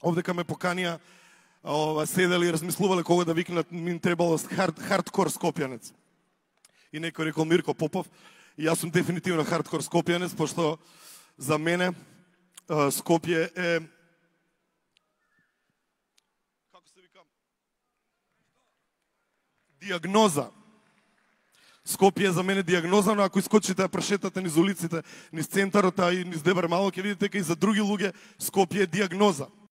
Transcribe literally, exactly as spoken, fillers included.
овдека ме поканија, ова, седели и размислувале кога да викнат, ми требало хард, хардкор скопјанец. И некој рекол Мирко Попов, и јас сум дефинитивно хардкор скопјанец, пошто за мене Скопје е, како се вика, диагноза. Скопје е за мене диагноза, но ако искочите да прошетате низ улиците, низ центарот, а и низ Дебар Мало, ќе видите дека и за други луѓе Скопје е диагноза.